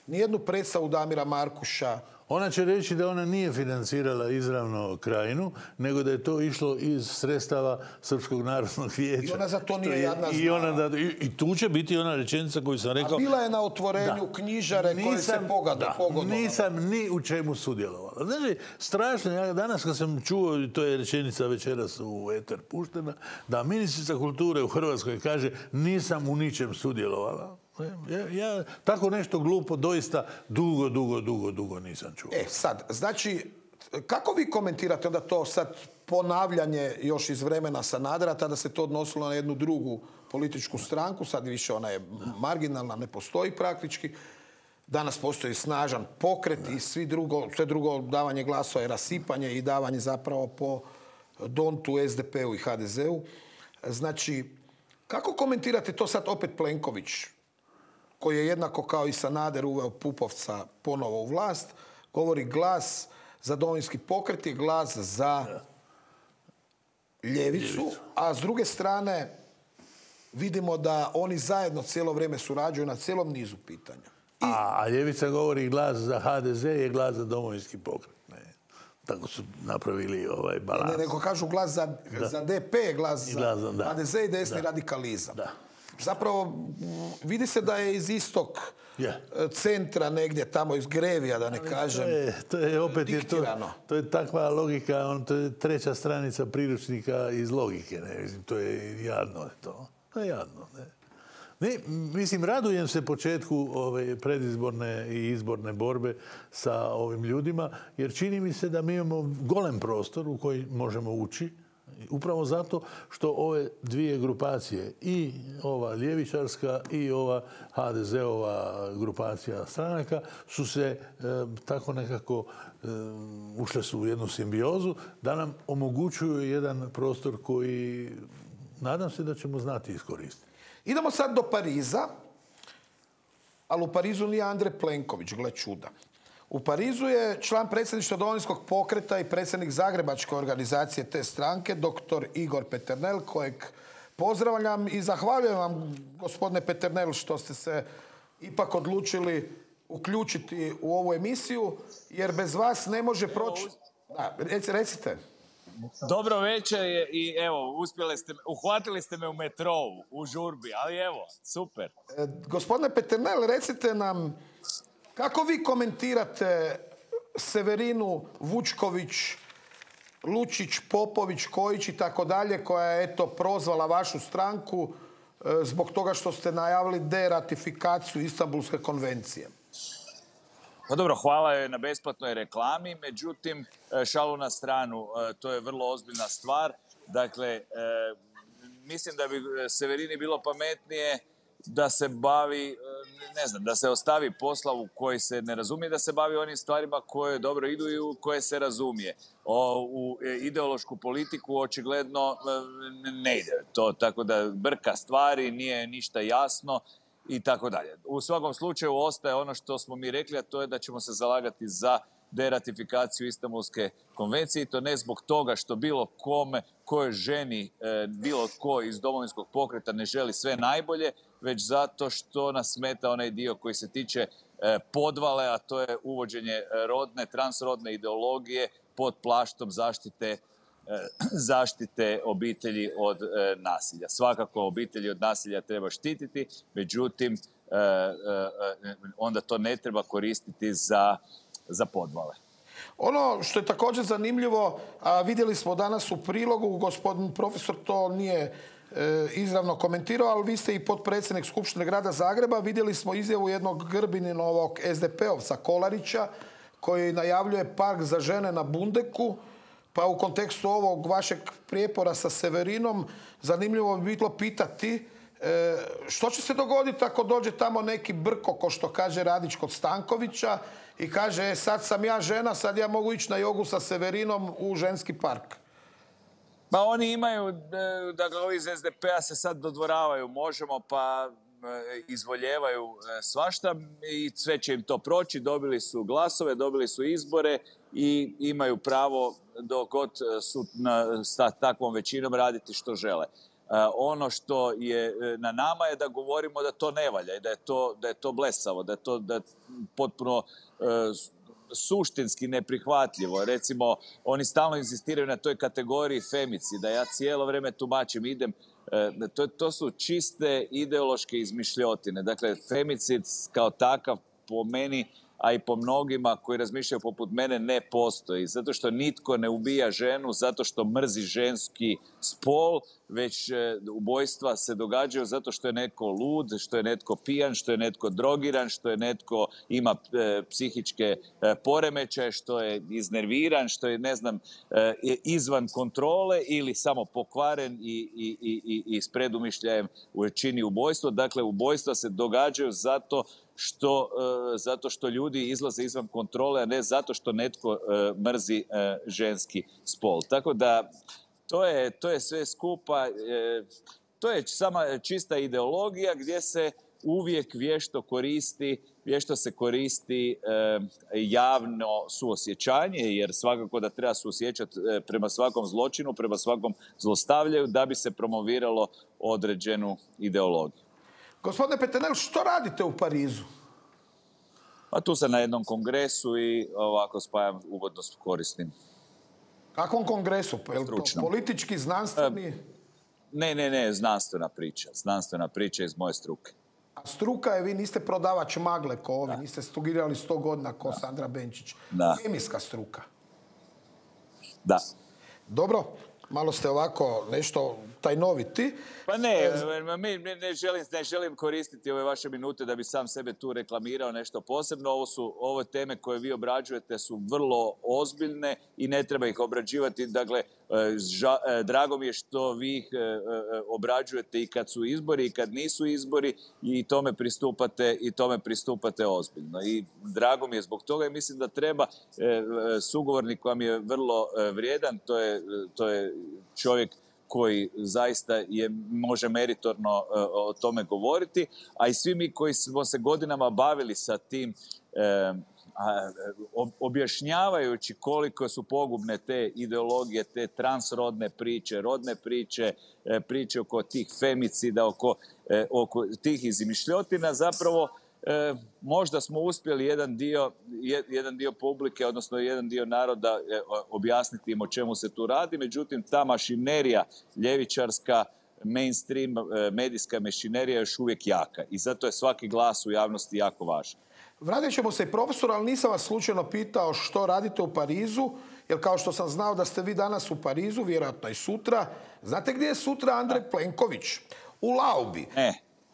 nijednu predstavu Damira Markuša. Ona će reći da ona nije financirala izravno Krajinu, nego da je to išlo iz sredstava Srpskog narodnog vijeća. I ona za to nije jadna znala. I tu će biti ona rečenica koju sam rekao... A bila je na otvorenju knjižare koje se pogodovala. Nisam ni u čemu sudjelovala. Znači, strašno, ja danas kad sam čuo, i to je rečenica večeras u eter puštena, da ministrica kulture u Hrvatskoj kaže nisam u ničem sudjelovala. Ja tako nešto glupo doista dugo nisam čuo. Sad, znači, kako vi komentirate onda to sad ponavljanje još iz vremena Sanadera, tada se to odnosilo na jednu drugu političku stranku, sad više ona je marginalna, ne postoji praktički. Danas postoji snažan pokret i sve drugo davanje glasova je rasipanje i davanje zapravo po dontu SDP-u i HDZ-u. Znači, kako komentirate to sad opet Plenković, koji je jednako kao i Sanader uveo Pupovca ponovo u vlast, govori glas za Domovinski pokret je glas za ljevicu, a s druge strane vidimo da oni zajedno cijelo vrijeme surađuju na cijelom nizu pitanja. A ljevica govori glas za HDZ je glas za Domovinski pokret. Tako su napravili balans. Nego kažu glas za DP, glas za HDZ i desni radikalizam. Zapravo, vidi se da je iz istog centra negdje tamo iz Grevija, da ne kažem, to je opet diktirano. To je takva logika, to je treća stranica priručnika iz logike. To je jadno. To je jadno. Mislim, radujem se početku ove predizborne i izborne borbe sa ovim ljudima, jer čini mi se da mi imamo golem prostor u koji možemo ući. Upravo zato što ove dvije grupacije, i ova ljevičarska i ova HDZ-ova grupacija stranaka, su se tako nekako ušle su u jednu simbiozu da nam omogućuju jedan prostor koji nadam se da ćemo znati iskoristiti. Idemo sad do Pariza, ali u Parizu nije Andrej Plenković, gle čuda. U Parizu je član predsjedništva Domovinskog pokreta i predsjednik zagrebačke organizacije te stranke, dr. Igor Peternel, kojeg pozdravljam i zahvaljujem vam, gospodine Peternel, što ste se ipak odlučili uključiti u ovu emisiju, jer bez vas ne može proći... Da, recite. Dobro večer i evo, uhvatili ste me u metrou, u žurbi, ali evo, super. Gospodine Peternel, recite nam, kako vi komentirate Severinu Vučković, Lučić, Popović, Kojić i tako dalje, koja je eto prozvala vašu stranku zbog toga što ste najavili deratifikaciju Istanbulske konvencije? Pa dobro, hvala joj na besplatnoj reklami, međutim, šalu na stranu, to je vrlo ozbiljna stvar. Dakle, mislim da bi Severini bilo pametnije da se bavi, ne znam, da se ostavi posla u koji se ne razumije, da se bavi onim stvarima koje dobro idu i u koje se razumije. U ideološku politiku očigledno ne ide to, tako da brka stvari, nije ništa jasno i tako dalje. U svakom slučaju ostaje ono što smo mi rekli, a to je da ćemo se zalagati za deratifikaciju Istanbulske konvencije i to ne zbog toga što bilo kome, kojoj ženi, bilo tko iz Domovinskog pokreta ne želi sve najbolje, već zato što nas smeta onaj dio koji se tiče podvale, a to je uvođenje transrodne ideologije pod plaštom zaštite obitelji od nasilja. Svakako obitelji od nasilja treba štititi, međutim onda to ne treba koristiti za podvale. Ono što je također zanimljivo, a vidjeli smo danas u prilogu, gospodin profesor to nije izravno komentirao, ali vi ste i potpredsjednik Skupštine grada Zagreba. Vidjeli smo izjavu jednog Grbininovog SDP-ovca Kolarića koji najavljuje park za žene na Bundeku. Pa u kontekstu ovog vašeg prijepora sa Severinom zanimljivo bi bilo pitati što će se dogoditi ako dođe tamo neki brko, ko što kaže Radić kod Stankovića i kaže sad sam ja žena, sad ja mogu ići na jogu sa Severinom u ženski park. Pa oni imaju, dakle ovi iz SDP-a se sad dodvoravaju, možemo pa izvoljevaju svašta i sve će im to proći, dobili su glasove, dobili su izbore i imaju pravo dok god su sa takvom većinom raditi što žele. Ono što je na nama je da govorimo da to ne valja i da je to blesavo, da je to potpuno suštinski neprihvatljivo. Recimo, oni stalno insistiraju na toj kategoriji femicida. Ja cijelo vrijeme tumačim, to su čiste ideološke izmišljotine. Dakle, femicid kao takav po meni, a i po mnogima koji razmišljaju poput mene, ne postoji. Zato što nitko ne ubija ženu, zato što mrzi ženski spol, već ubojstva se događaju zato što je netko lud, što je netko pijan, što je netko drogiran, što je netko ima psihičke poremećaje, što je iznerviran, što je, ne znam, izvan kontrole ili samo pokvaren i s predumišljajem čini ubojstvo. Dakle, ubojstva se događaju zato što ljudi izlaze izvan kontrole, a ne zato što netko mrzi ženski spol. Tako da to je sve skupa, to je sama čista ideologija gdje se uvijek vješto se koristi javno suosjećanje, jer svakako da treba suosjećati prema svakom zločinu, prema svakom zlostavljaju, da bi se promoviralo određenu ideologiju. Gospodine Peternel, što radite u Parizu? Pa tu sam na jednom kongresu i ovako spajam ugodno s korisnim. Kakvom kongresu? Je li to politički, znanstveni? Ne, znanstvena priča iz moje struke. A struka je, vi niste prodavač magle ko ovi, niste studirali 100 godina ko Sandra Benčić. Kemijska struka. Da. Dobro, malo ste ovako nešto tajnoviti. Pa ne, ne želim koristiti ove vaše minute da bi sam sebe tu reklamirao nešto posebno. Ove teme koje vi obrađujete su vrlo ozbiljne i ne treba ih obrađivati. Dakle, drago mi je što vi ih obrađujete i kad su izbori i kad nisu izbori i tome pristupate ozbiljno. I drago mi je zbog toga i mislim da treba sugovornik vam je vrlo vrijedan, to je čovjek koji zaista može meritorno o tome govoriti, a i svi mi koji smo se godinama bavili sa tim objašnjavajući koliko su pogubne te ideologije, te transrodne priče, rodne priče, priče oko tih femicida, oko tih izmišljotina, zapravo možda smo uspjeli jedan dio publike, odnosno jedan dio naroda objasniti im o čemu se tu radi, međutim ta mašinerija ljevičarska, mainstream, medijska mašinerija je još uvijek jaka i zato je svaki glas u javnosti jako važan. Vratit ćemo se i profesor, ali nisam vas slučajno pitao što radite u Parizu, jer kao što sam znao da ste vi danas u Parizu, vjerojatno i sutra. Znate gdje je sutra Andrej Plenković? U Laubi.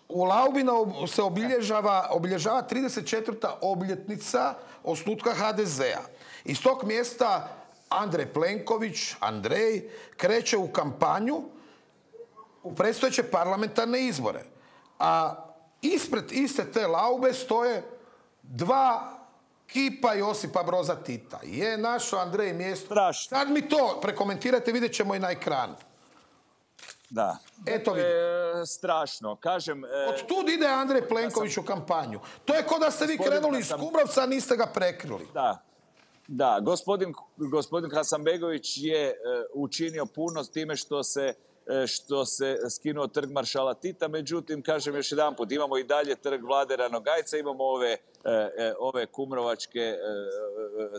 U Laubi se obilježava 34. obljetnica osnutka HDZ-a. Iz tog mjesta Andrej Plenković, Andrej, kreće u kampanju u predstojeće parlamentarne izbore. A ispred iste te laube stoje dva kipa Josipa Broza Tita. Je našo Andrej mjesto. Sad mi to prekomentirajte, vidjet ćemo i na ekranu. Da. Eto strašno. Kažem... Od tud ide Andrej Plenković u kampanju. To je kao da ste vi krenuli iz Kumrovca, a niste ga prekrili. Da, gospodin Hasanbegović je učinio puno s time što se skinuo trg maršala Tita, međutim, kažem još jedanput, imamo i dalje trg Vlade Ranogajca, imamo ove kumrovačke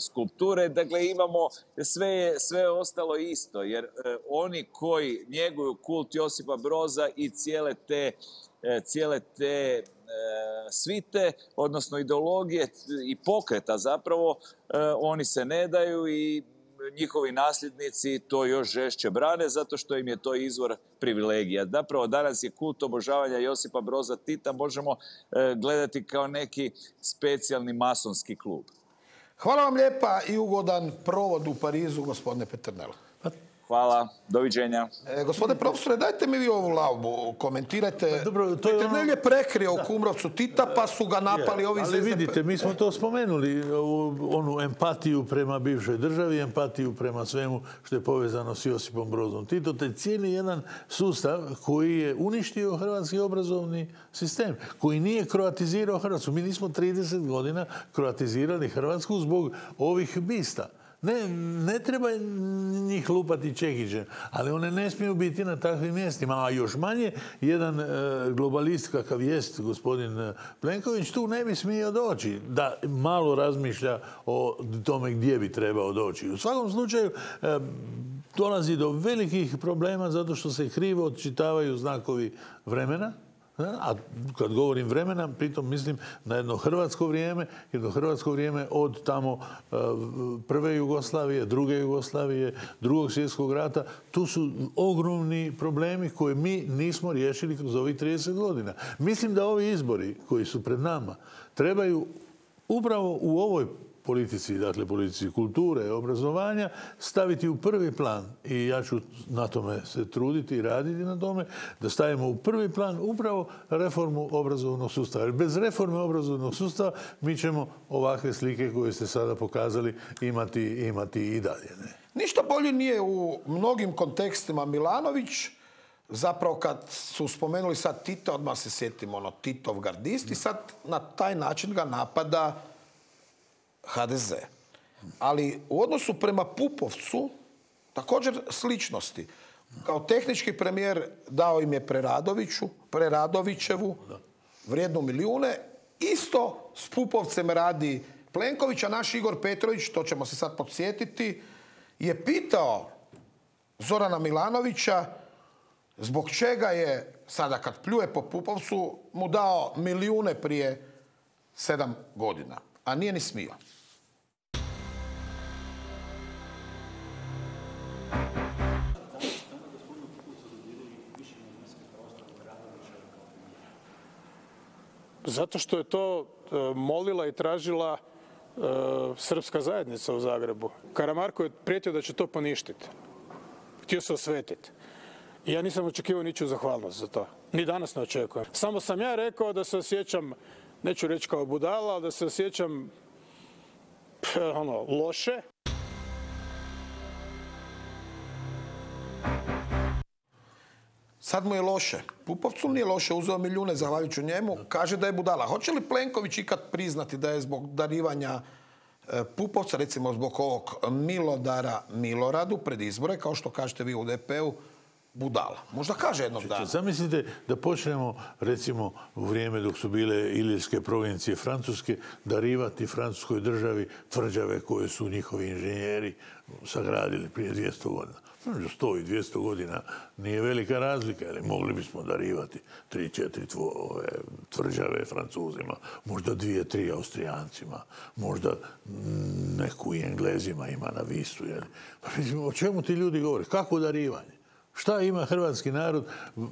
skulpture, dakle imamo sve ostalo isto, jer oni koji njeguju kult Josipa Broza i cijele te svite, odnosno ideologije i pokreta zapravo, oni se ne daju i njihovi nasljednici to još žešće brane zato što im je to izvor privilegija. Zapravo danas je kult obožavanja Josipa Broza Tita možemo gledati kao neki specijalni masonski klub. Hvala vam lijepa i ugodan provod u Parizu, gospodine Peternel. Hvala, doviđenja. Gospodine profesore, dajte mi vi ovu laubu, komentirajte. Peternel je prekrio u Kumrovcu Tita, pa su ga napali ovi iz SDP. Ali vidite, mi smo to spomenuli, onu empatiju prema bivšoj državi, empatiju prema svemu što je povezano s Josipom Brozom Titom. To je cijeli jedan sustav koji je uništio hrvatski obrazovni sistem, koji nije kroatizirao Hrvatsku. Mi nismo 30 godina kroatizirali Hrvatsku zbog ovih bista. Ne treba njih lupati čekićem, ali one ne smiju biti na takvim mjestima. A još manje, jedan globalist kakav jest gospodin Plenković tu ne bi smio doći da malo razmišlja o tome gdje bi trebao doći. U svakom slučaju dolazi do velikih problema zato što se krivo odčitavaju znakovi vremena. A kad govorim vremena, pritom mislim na jedno hrvatsko vrijeme od tamo prve Jugoslavije, druge Jugoslavije, drugog svjetskog rata. Tu su ogromni problemi koje mi nismo riješili kroz ovih 30 godina. Mislim da ovi izbori koji su pred nama trebaju upravo u ovoj politici, dakle politici kulture, obrazovanja, staviti u prvi plan. I ja ću na tome se truditi i raditi na tome, da stavimo u prvi plan upravo reformu obrazovnog sustava. Jer bez reforme obrazovnog sustava mi ćemo ovakve slike koje ste sada pokazali imati i dalje. Ništa bolje nije u mnogim kontekstima Milanović. Zapravo kad su spomenuli sad Tita, odmah se sjetimo Titov gardist i sad na taj način ga napada HDZ. Ali u odnosu prema Pupovcu također sličnosti. Kao tehnički premijer dao im je Preradovićevu vrijednu milijune. Isto s Pupovcem radi Plenković, a naš Igor Petrović, to ćemo se sad podsjetiti, je pitao Zorana Milanovića zbog čega je, sada kad pljuje po Pupovcu, mu dao milijune prije 7 godina. A nije ni smio. Zato što je to molila i tražila srpska zajednica u Zagrebu. Karamarko je prijetio da će to poništiti. Htio se osvetiti. I ja nisam očekivao ničiju zahvalnost za to. Ni danas ne očekujem. Samo sam ja rekao da se osjećam, neću reći kao budala, ali da se osjećam loše. Sad mu je loše. Pupovcu nije loše, uzeo milijune zahvaljujući njemu, kaže da je budala. Hoće li Plenković ikad priznati da je zbog darivanja Pupovca, recimo zbog ovog milodara Miloradu pred izbore, kao što kažete vi u DP-u, budala? Možda kaže jednog dana. Zamislite da počnemo, recimo, u vrijeme dok su bile Ilirske provincije Francuske, darivati francuskoj državi tvrđave koje su njihovi inženjeri sagradili prije 200 godina. 100 i 200 godina nije velika razlika, ali mogli bismo darivati 3-4 tvrđave Francuzima, možda 2-3 Austrijancima, možda neku i Englezima ima na Visu. Pa o čemu ti ljudi govore? Kako darivanje? Šta ima hrvatski narod,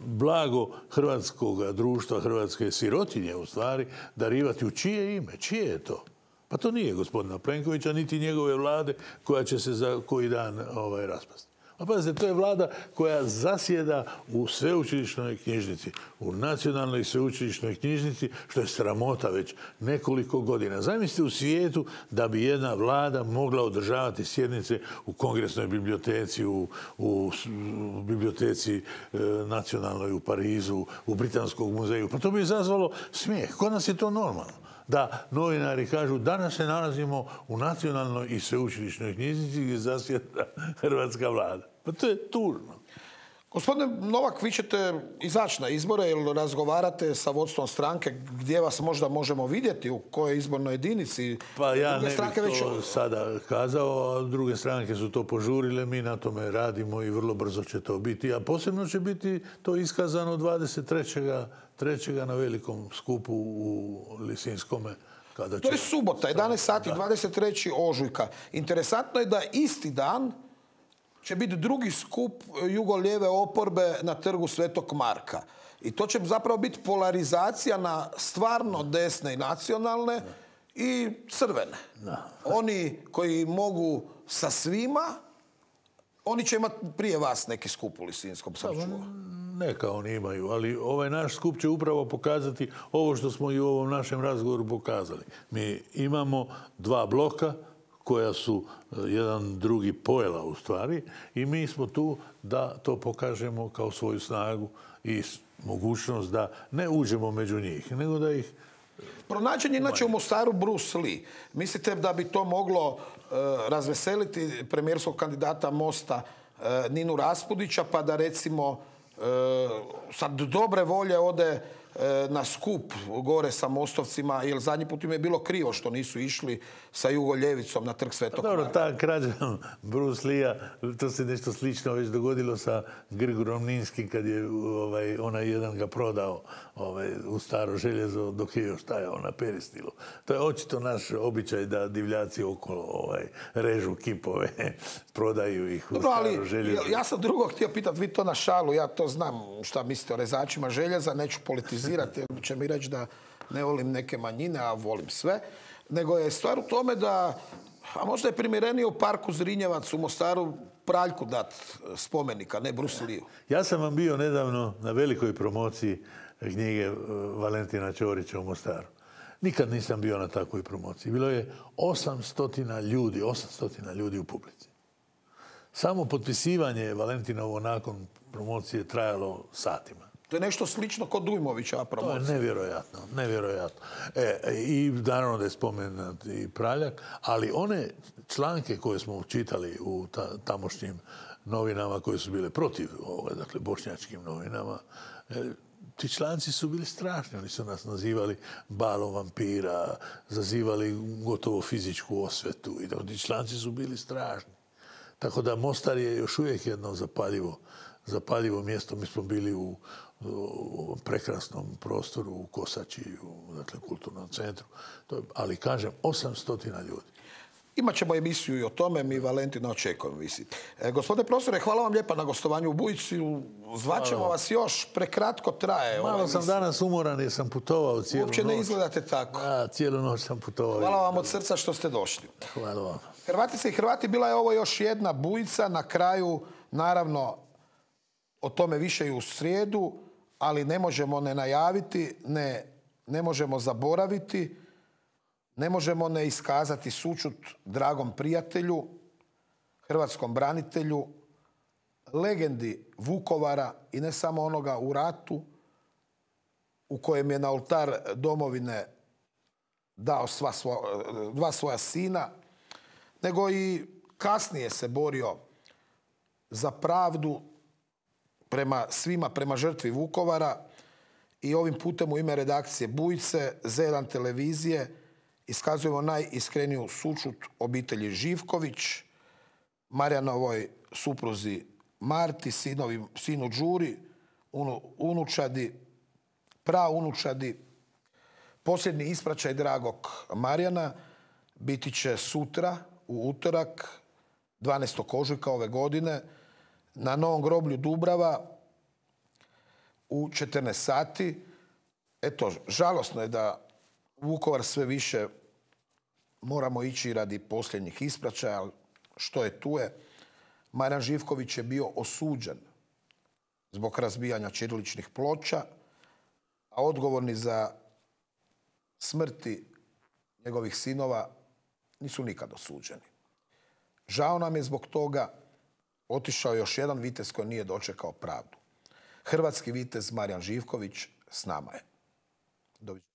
blago hrvatskog društva, hrvatske sirotinje u stvari, darivati u čije ime? Čije je to? Pa to nije gospodina Plenkovića, niti njegove vlade koja će se za koji dan raspasti. A pazite, to je vlada koja zasjeda u sveučilišnoj knjižnici, u nacionalnoj sveučilišnoj knjižnici, što je sramota već nekoliko godina. Zamislite u svijetu da bi jedna vlada mogla održavati sjednice u Kongresnoj biblioteci, u biblioteci nacionalnoj u Parizu, u Britanskom muzeju. Pa to bi izazvalo smijeh. Kod nas je to normalno. Da novinari kažu danas se nalazimo u nacionalnoj i sveučilišnoj knjižnici gdje zasjeda hrvatska vlada. Pa to je tužno. Gospodine Novak, vi ćete izaći na izbore ili razgovarate sa vodstvom stranke gdje vas možda možemo vidjeti, u kojoj izbornoj jedinici? Pa ja ne bih to sada kazao, a druge stranke su to požurile, mi na tome radimo i vrlo brzo će to biti. A posebno će biti to iskazano 23. na velikom skupu u Lisinskome. To je subota, 11 sati, 23. ožujka. Interesantno je da isti dan će biti drugi skup jugolijeve oporbe na trgu Svetog Marka. I to će zapravo biti polarizacija na stvarno desne i nacionalne i crvene. Oni koji mogu sa svima, oni će imati prije vas neki skup u Lisinskom, sam čuo. Neka oni imaju, ali ovaj naš skup će upravo pokazati ovo što smo i u ovom našem razgovoru pokazali. Mi imamo dva bloka koja su jedan drugi pojela u stvari i mi smo tu da to pokažemo kao svoju snagu i mogućnost da ne uđemo među njih, nego da ih... Pronađen je inače u Mostaru Bruce Lee. Mislite da bi to moglo razveseliti premijerskog kandidata Mosta Ninu Raspudića, pa da recimo sad dobre volje ode na skup gore sa Mostovcima, jer zadnji put im je bilo krivo što nisu išli sa jugoljevicom na trg Svetog Marka. Dobro, ta krađa Bruce Lee-a, to se nešto slično već dogodilo sa Grigorom Ninskim kad je onaj jedan ga prodao u staro željezo dok je još stajao na peristilu. To je očito naš običaj da divljaci okolo režu kipove, prodaju ih u staro željezo. Ja sam drugo htio pitati, vi to na šalu, ja to znam šta mislite o rezačima željeza, neću politizirati, jer će mi reći da ne volim neke manjine, a volim sve. Nego je stvar u tome da, a možda je primjerenije u parku Zrinjevac u Mostaru Praljku dat spomenika, ne Bruce Lee-u. Ja sam vam bio nedavno na velikoj promociji knjige Valentina Ćorića u Mostaru. Nikad nisam bio na takvoj promociji. Bilo je 800 ljudi u publici. Samo potpisivanje Valentinovo nakon promocije trajalo satima. To je nešto slično kod Dujmovića promocija. To je nevjerojatno, nevjerojatno. I naravno da je spomenut i Praljak, ali one članke koje smo čitali u tamošnjim novinama koje su bile protiv ovoga, dakle bošnjačkim novinama, ti članci su bili strašni. Oni su nas nazivali balom vampira, zazivali gotovo fizičku osvetu i ti članci su bili strašni. Tako da Mostar je još uvijek jedno zapaljivo mjesto. Mi smo bili u prekrasnom prostoru u Kosači, dakle kulturnom centru. Ali kažem, 800 ljudi. Imat ćemo emisiju i o tome, mi Valentina očekujemo visi. Gospodine profesore, hvala vam lijepa na gostovanju u Bujici. Zvaćemo vas još, prekratko traje. Malo sam danas umoran jer sam putovao cijelu noć. Uopće ne izgledate tako. Cijelu noć sam putovao. Hvala vam od srca što ste došli. Hvala vam. Hrvatice i Hrvati, bila je ovo još jedna Bujica. Na kraju, naravno, o tome više i u srijedu, ali ne možemo ne najaviti, ne možemo zaboraviti, ne možemo ne iskazati sućut dragom prijatelju, hrvatskom branitelju, legendi Vukovara i ne samo onoga u ratu u kojem je na oltar domovine dao dva svoja sina, nego i kasnije se borio za pravdu prema svima, prema žrtvi Vukovara. I ovim putem u ime redakcije Bujice, Z1 televizije, iskazujemo najiskreniju sućut obitelji Živković, Marijanovoj supruzi Marti, sinu Đuri, unučadi, praunučadi. Posljednji ispraćaj dragog Marijana biti će sutra, u utorak, 12. ožujka ove godine, na Novom groblju Dubrava u 14 sati. Eto, žalosno je da Vukovar sve više moramo ići radi posljednjih ispraćaja, ali što je tu je. Marijan Živković je bio osuđen zbog razbijanja ćiriličnih ploča, a odgovorni za smrti njegovih sinova nisu nikad osuđeni. Žao nam je zbog toga, otišao još jedan vitez koji nije dočekao pravdu. Hrvatski vitez Marijan Živković s nama je. Doviđenja.